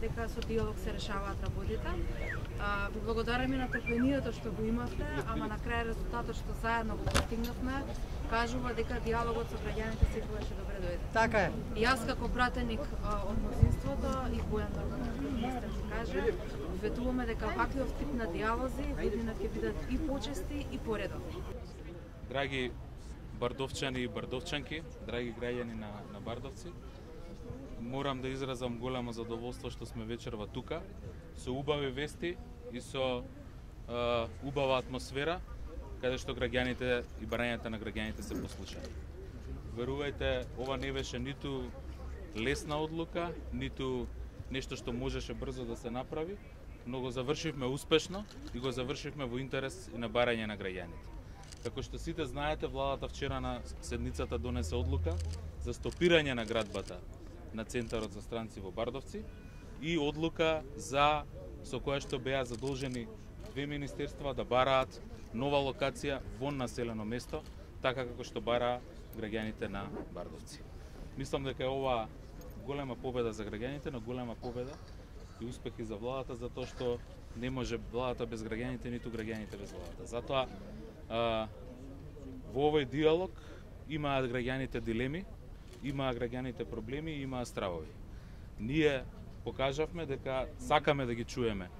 Дека со диалог се решаваат работите. Ви благодараме на трпението што го имавте, ама на крај резултатот што заедно го постигнавме кажува дека диалогот со граѓаните секогаш ќе добре дојде. Така е. И јас како пратеник од мнозинството и Бојан министер ќе каже, ветуваме дека ваквиот тип на диалози година ќе бидат и почести и поредовни. Драги бардовчани и бардовчанки, драги граѓани на Бардовци, морам да изразам големо задоволство што сме вечерва тука, со убави вести и со убава атмосфера, каде што граѓаните и барањата на граѓаните се послушаат. Верувајте, ова не беше ниту лесна одлука, ниту нешто што можеше брзо да се направи, но го завршивме успешно и го завршивме во интерес и на барање на граѓаните. Како што сите знаете, владата вчера на седницата донесе одлука за стопирање на градбата на Центарот за странци во Бардовци и одлука со која што беа задолжени две министерства да бараат нова локација во населено место, така како што бараа граѓаните на Бардовци. Мислам дека е ова голема победа за граѓаните, но голема победа и успехи за владата, затоа што не може владата без граѓаните, ниту граѓаните без владата. Затоа во овој диалог имаат граѓаните дилеми, имаа граѓаните проблеми и имаа стравови. Ние покажавме дека сакаме да ги чуеме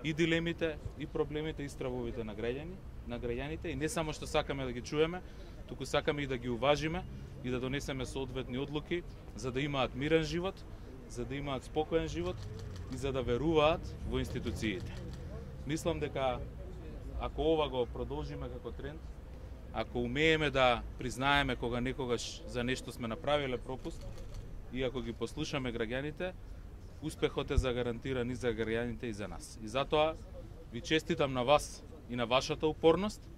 и дилемите, и проблемите, и стравовите на граѓаните, и не само што сакаме да ги чуеме, туку сакаме и да ги уважиме и да донесеме соодветни одлуки за да имаат мирен живот, за да имаат спокоен живот и за да веруваат во институциите. Мислам дека ако ова го продолжиме како тренд, ако умееме да признаеме кога некогаш за нешто сме направиле пропуст и ако ги послушаме граѓаните, успехот е загарантиран и за граѓаните и за нас. И затоа ви честитам на вас и на вашата упорност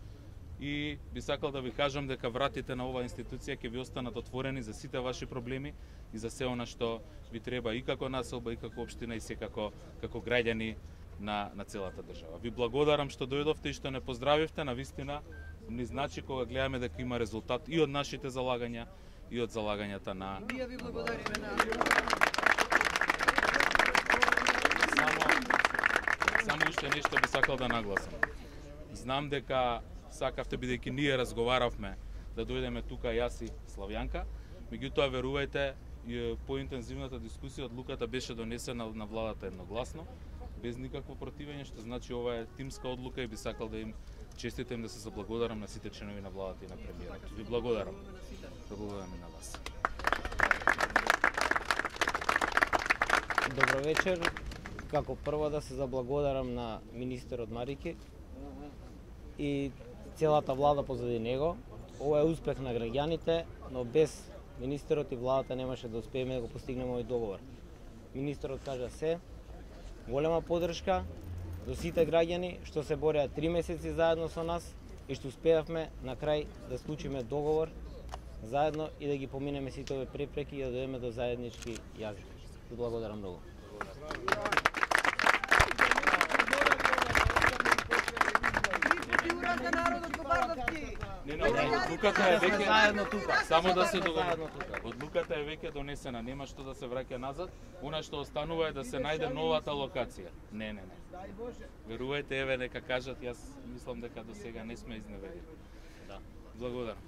и би сакал да ви кажам дека вратите на оваа институција ќе ви останат отворени за сите ваши проблеми и за се она што ви треба и како населба, и како општина, и секако како граѓани на целата држава. Ви благодарам што дојдовте и што не поздравивте, навистина ни значи кога гледаме дека има резултат и од нашите залагања и од залагањата на... Ние ви благодариме на... Само уште нешто би сакал да нагласам. Знам дека сакавте, бидејќи ние разговаравме, да дојдеме тука јас и Славјанка, меѓутоа верувајте, поинтензивната дискусија, одлуката беше донесена на владата едногласно, без никакво противење, што значи ова е тимска одлука и би сакал да им честитам, да се заблагодарам на сите членови на владата и на премиерот. Ви благодарам. Благодарам и на вас. Добро вечер. Како прво да се заблагодарам на министерот Марики и целата влада позади него. Ова е успех на граѓаните, но без министерот и владата немаше да успееме да го постигнеме овој договор. Министерот кажа се, голема поддршка до сите граѓани што се бореа 3 месеци заедно со нас и што успеавме на крај да склучиме договор заедно и да ги поминеме сите овие препреки и да дојдеме до заеднички јазик. Ви благодарам многу. Одлуката е веќе заедно тука. Само да се договориме. Одлуката е веќе донесена, нема што да се враќа назад. Она што останува е да се најде новата локација. Не. Верувајте, еве нека кажат, јас мислам дека до сега не сме изневерени. Да. Благодарам.